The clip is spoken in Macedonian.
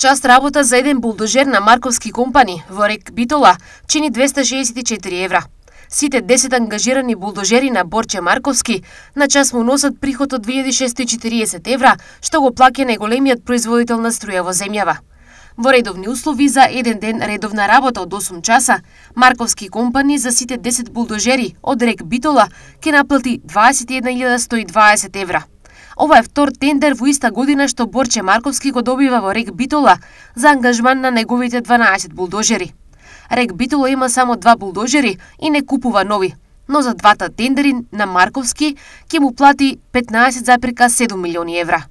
час работа за еден булдожер на Марковски компани во Рек Битола чини 264 евра. Сите 10 ангажирани булдожери на Борче Марковски на час му носат приход од 2640 евра, што го плаќа најголемиот производител на струја во земјава. Во редовни услови за еден ден редовна работа од 8 часа, Марковски компани за сите 10 булдожери од Рек Битола ќе наплати 21.120 евра. Ова е втор тендер во иста година што Борче Марковски го добива во Рек Битола за ангажман на неговите 12 булдожери. Рек Битола има само 2 булдожери и не купува нови, но за двата тендери на Марковски ќе му плати 15,7 милиони евра.